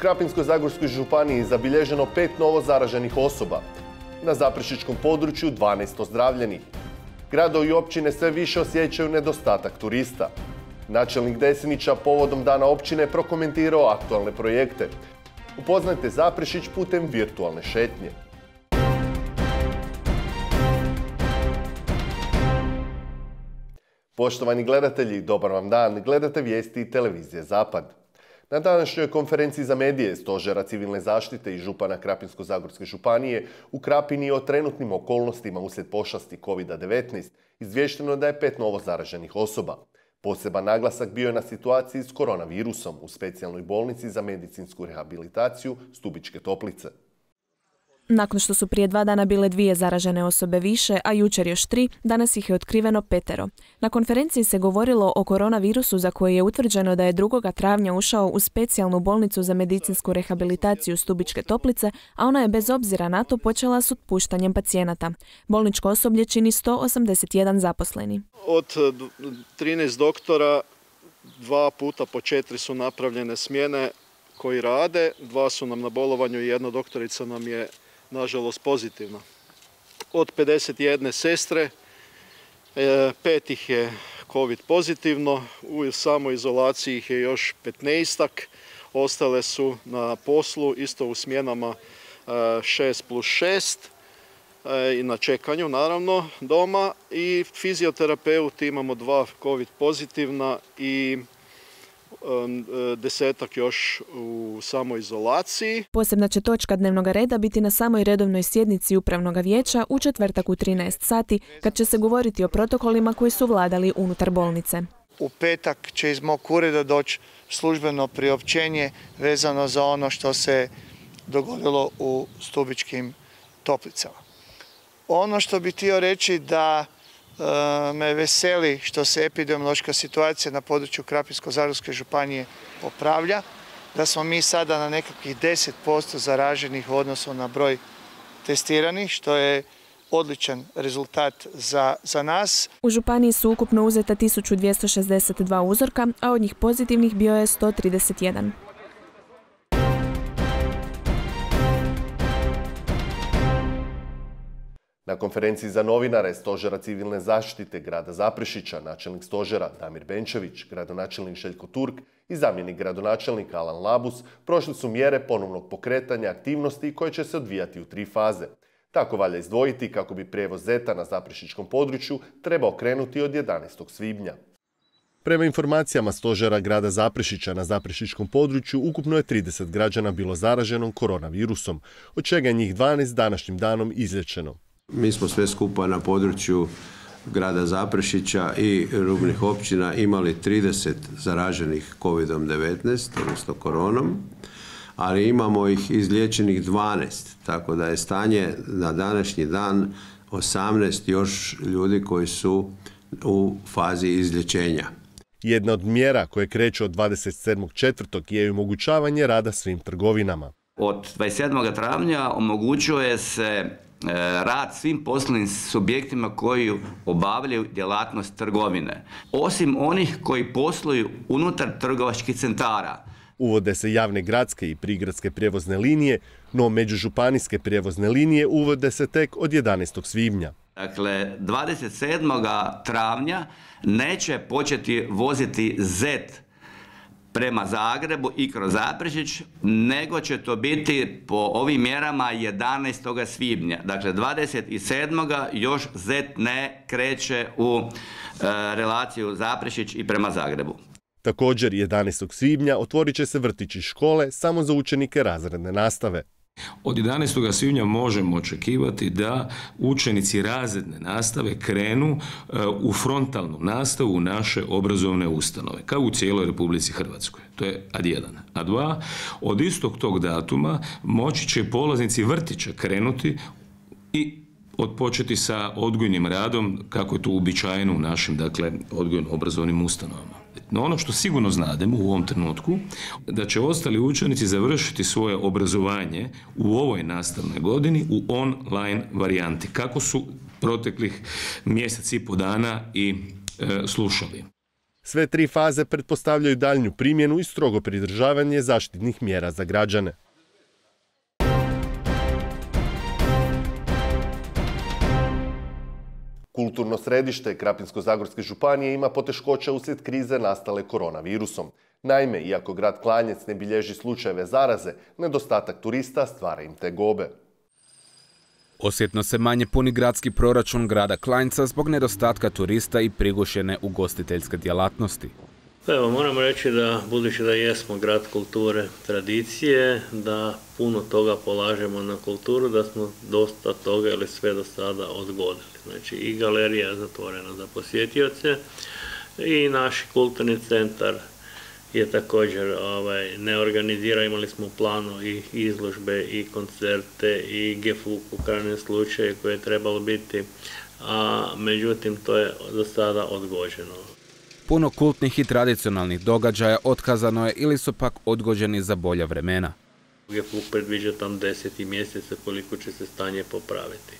Krapinsko-zagorskoj županiji zabilježeno 5 novo zaraženih osoba. Na zaprešičkom području 12 ozdravljenih. Gradovi i općine sve više osjećaju nedostatak turista. Načelnik Desnića povodom Dana općine prokomentirao aktualne projekte. Upoznajte Zaprešić putem virtualne šetnje. Poštovani gledatelji, dobar vam dan. Gledate vijesti televizije Zapad. Na današnjoj konferenciji za medije Stožera civilne zaštite i župana Krapinsko-zagorske županije u Krapini o trenutnim okolnostima uslijed pošasti COVID-19 izvješteno da je 5 novo zaraženih osoba. Poseban naglasak bio je na situaciji s koronavirusom u specijalnoj bolnici za medicinsku rehabilitaciju Stubičke Toplice. Nakon što su prije 2 dana bile 2 zaražene osobe više, a jučer još 3, danas ih je otkriveno 5. Na konferenciji se govorilo o koronavirusu za koji je utvrđeno da je 2. travnja ušao u specijalnu bolnicu za medicinsku rehabilitaciju Stubičke Toplice, a ona je bez obzira na to počela s otpuštanjem pacijenata. Bolničko osoblje čini 181 zaposleni. Od 13 doktora 2 puta po 4 su napravljene smjene koji rade, 2 su nam na bolovanju i 1 doktorica nam je nažalost pozitivna. Od 51 sestre, 5 ih je COVID pozitivno, u samoizolaciji ih je još 15-ak, ostale su na poslu, isto u smjenama 6+6 i na čekanju naravno doma, i fizioterapeuti imamo 2 COVID pozitivna i 10-ak još u samoizolaciji. Posebna će točka dnevnog reda biti na samoj redovnoj sjednici Upravnog vijeća u četvrtak u 13 sati, kad će se govoriti o protokolima koji su vladali unutar bolnice. U petak će iz mog ureda doći službeno priopćenje vezano za ono što se dogodilo u Stubičkim Toplicama. Ono što bih htio reći da me veseli što se epidemiološka situacija na području Krapinsko-zagorske županije popravlja, da smo mi sada na nekakvih 10% zaraženih u odnosu na broj testiranih, što je odličan rezultat za nas. U županiji su ukupno uzeta 1262 uzorka, a od njih pozitivnih bio je 131. Na konferenciji za novinare Stožera civilne zaštite grada Zaprešića, načelnik stožera Damir Benčević, gradonačelnik Željko Turk i zamjenik gradonačelnika Alan Labus prošli su mjere ponovnog pokretanja aktivnosti koje će se odvijati u 3 faze. Tako valja izdvojiti kako bi prijevoz zeta na zaprešičkom području trebao krenuti od 11. svibnja. Prema informacijama Stožera grada Zaprešića, na zaprešičkom području ukupno je 30 građana bilo zaraženo koronavirusom, od čega je njih 12 današnjim danom izliječeno. Mi smo sve skupa na području grada Zaprešića i rubnih općina imali 30 zaraženih COVID-19, odnosno koronom, ali imamo ih izliječenih 12, tako da je stanje na današnji dan 18 još ljudi koji su u fazi izlječenja. Jedna od mjera koje kreću od 27.4. je omogućavanje rada svim trgovinama. Od 27. travnja omogućuje se rad svim poslovnim subjektima koji obavljaju djelatnost trgovine, osim onih koji posluju unutar trgovačkih centara. Uvode se javne gradske i prigradske prijevozne linije, no međužupanijske prijevozne linije uvode se tek od 11. svibnja. Dakle, 27. travnja neće početi voziti ZET prema Zagrebu i kroz Zaprešić, nego će to biti po ovim mjerama 11. svibnja. Dakle, 27. još ZET ne kreće u relaciju Zaprešić i prema Zagrebu. Također, 11. svibnja otvorit će se vrtići i škole samo za učenike razredne nastave. Od 11. svibnja možemo očekivati da učenici razredne nastave krenu u frontalnu nastavu u naše obrazovne ustanove, kao u cijeloj Republici Hrvatskoj. To je ad 1. A 2, od istog tog datuma moći će polaznici vrtića krenuti i odpočeti sa odgojnim radom, kako je to uobičajeno u našim, dakle, odgojno-obrazovnim ustanovama. No ono što sigurno znademo u ovom trenutku, da će ostali učenici završiti svoje obrazovanje u ovoj nastavnoj godini u online varijanti, kako su proteklih mjesec i po dana i slušali. Sve 3 faze pretpostavljaju daljnju primjenu i strogo pridržavanje zaštitnih mjera za građane. Kulturno središte Krapinsko-zagorske županije ima poteškoća uslijed krize nastale koronavirusom. Naime, iako grad Klanjec ne bilježi slučajeve zaraze, nedostatak turista stvara im tegobe. Osjetno se manje puni gradski proračun grada Klanjca zbog nedostatka turista i prigušene ugostiteljske djelatnosti. Evo, moramo reći da, budući da jesmo grad kulture, tradicije, da puno toga polažemo na kulturu, da smo dosta toga ili sve do sada odgodili. Znači i galerija je zatvorena za posjetioce i naš kulturni centar je također ne organizira, imali smo u planu i izložbe i koncerte i GFUK u krajnjem slučaju koje je trebalo biti, a međutim to je do sada odgođeno. Puno kultnih i tradicionalnih događaja otkazano je ili su pak odgođeni za bolja vremena. GFUK predviđa tam 10. mjeseca koliko će se stanje popraviti.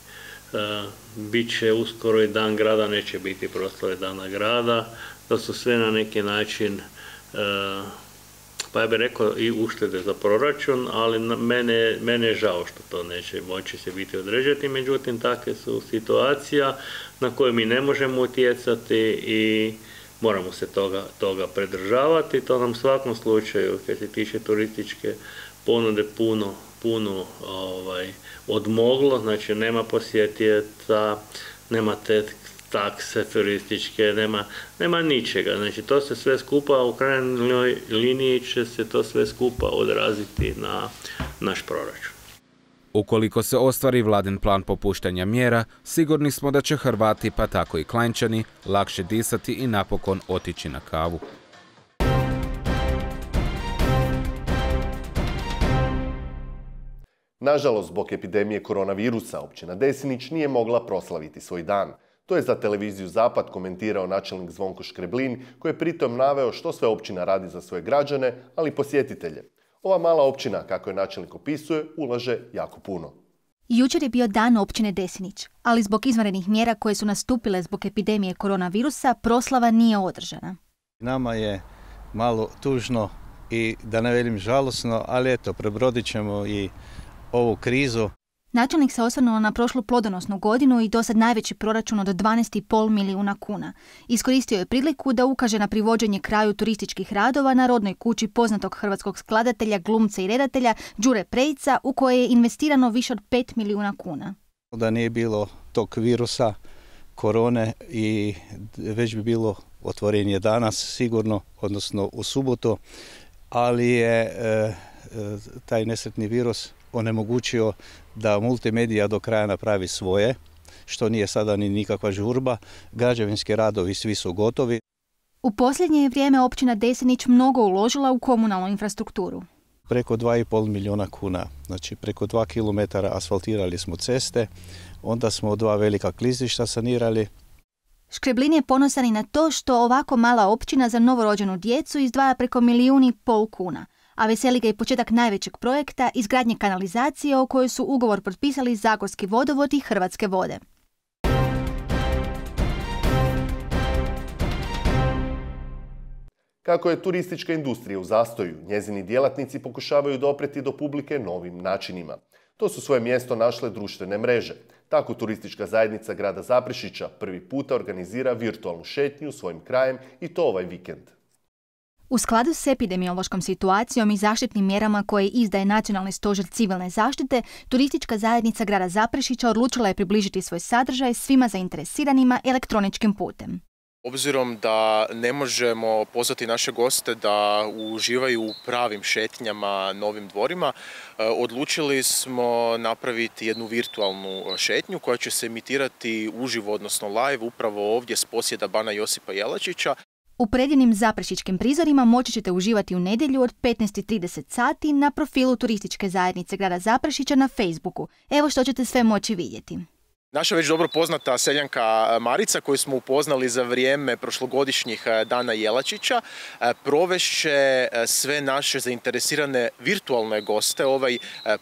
Biće uskoro i dan grada, neće biti proslave dana grada, to su sve na neki način, pa ja bih rekao i uštede za proračun, ali mene je žao što to neće moći se biti određati, međutim takve su situacija na koje mi ne možemo utjecati i moramo se toga pridržavati. To nam u svakom slučaju, kad se tiče turističke ponude, puno odmoglo, znači nema posjetioca, nema te takse turističke, nema ničega. Znači to se sve skupa, u krajnjoj liniji će se to sve skupa odraziti na naš proračun. Ukoliko se ostvari vladin plan popuštanja mjera, sigurni smo da će Hrvati, pa tako i Klanjčani, lakše disati i napokon otići na kavu. Nažalost, zbog epidemije koronavirusa, općina Desinić nije mogla proslaviti svoj dan. To je za televiziju Zapad komentirao načelnik Zvonko Škreblin, koji je pritom naveo što sve općina radi za svoje građane, ali i posjetitelje. Ova mala općina, kako je načelnik opisuje, ulaže jako puno. Jučer je bio dan općine Desinić, ali zbog izvanrednih mjera koje su nastupile zbog epidemije koronavirusa, proslava nije održana. Nama je malo tužno i da ne velim žalosno, ali eto, prebrodit ćemo i ovu krizu. Načelnik se osvrnuo na prošlu plodonosnu godinu i dosad najveći proračun od 12,5 milijuna kuna. Iskoristio je priliku da ukaže na privođenje kraju turističkih radova na rodnoj kući poznatog hrvatskog skladatelja, glumca i redatelja Đure Prejica, u koje je investirano više od 5 milijuna kuna. Da nije bilo tog virusa, korone, i već bi bilo otvorenje danas sigurno, odnosno u subotu, ali je taj nesretni virus onemogućio da multimedija do kraja napravi svoje, što nije sada ni nikakva žurba. Građevinski radovi svi su gotovi. U posljednje je vrijeme općina Desinić mnogo uložila u komunalnu infrastrukturu. Preko 2,5 milijuna kuna, znači preko 2 km asfaltirali smo ceste, onda smo 2 velika klizišta sanirali. Škreblin je ponosan i na to što ovako mala općina za novorođenu djecu izdvaja preko 1,5 milijuna kuna. A veseli ga i početak najvećeg projekta, izgradnje kanalizacije o kojoj su ugovor potpisali Zagorski vodovod i Hrvatske vode. Kako je turistička industrija u zastoju, njezini djelatnici pokušavaju dopreti do publike novim načinima. To su svoje mjesto našle društvene mreže. Tako turistička zajednica grada Zaprešića prvi puta organizira virtualnu šetnju svojim krajem i to ovaj vikend. U skladu s epidemiološkom situacijom i zaštitnim mjerama koje izdaje Nacionalni stožer civilne zaštite, turistička zajednica grada Zaprešića odlučila je približiti svoj sadržaj svima zainteresiranima elektroničkim putem. Obzirom da ne možemo pozvati naše goste da uživaju u pravim šetnjama novim dvorima, odlučili smo napraviti jednu virtualnu šetnju koja će se emitirati uživo, odnosno live, upravo ovdje s posjeda Bana Josipa Jelačića. U predivnim zaprešičkim prizorima moći ćete uživati u nedjelju od 15:30 sati na profilu turističke zajednice grada Zaprešića na Facebooku. Evo što ćete sve moći vidjeti. Naša već dobro poznata seljanka Marica, koju smo upoznali za vrijeme prošlogodišnjih dana Jelačića, provešće sve naše zainteresirane virtualne goste ovaj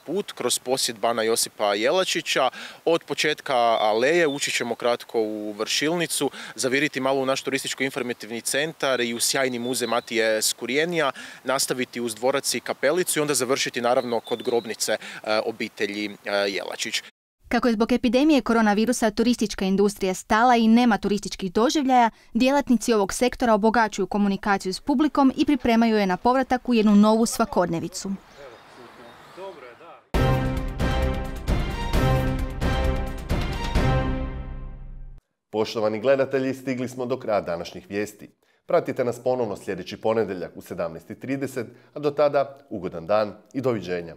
put kroz posjet bana Josipa Jelačića. Od početka aleje ući ćemo kratko u Vršilnicu, zaviriti malo u naš turističko-informativni centar i u sjajni muzej Matije Skurijenija, nastaviti uz dvorac i kapelicu i onda završiti naravno kod grobnice obitelji Jelačić. Kako je zbog epidemije koronavirusa turistička industrija stala i nema turističkih doživljaja, djelatnici ovog sektora obogaćuju komunikaciju s publikom i pripremaju je na povratak u jednu novu svakodnevicu. Poštovani gledatelji, stigli smo do kraja današnjih vijesti. Pratite nas ponovno sljedeći ponedjeljak u 17:30, a do tada ugodan dan i doviđenja.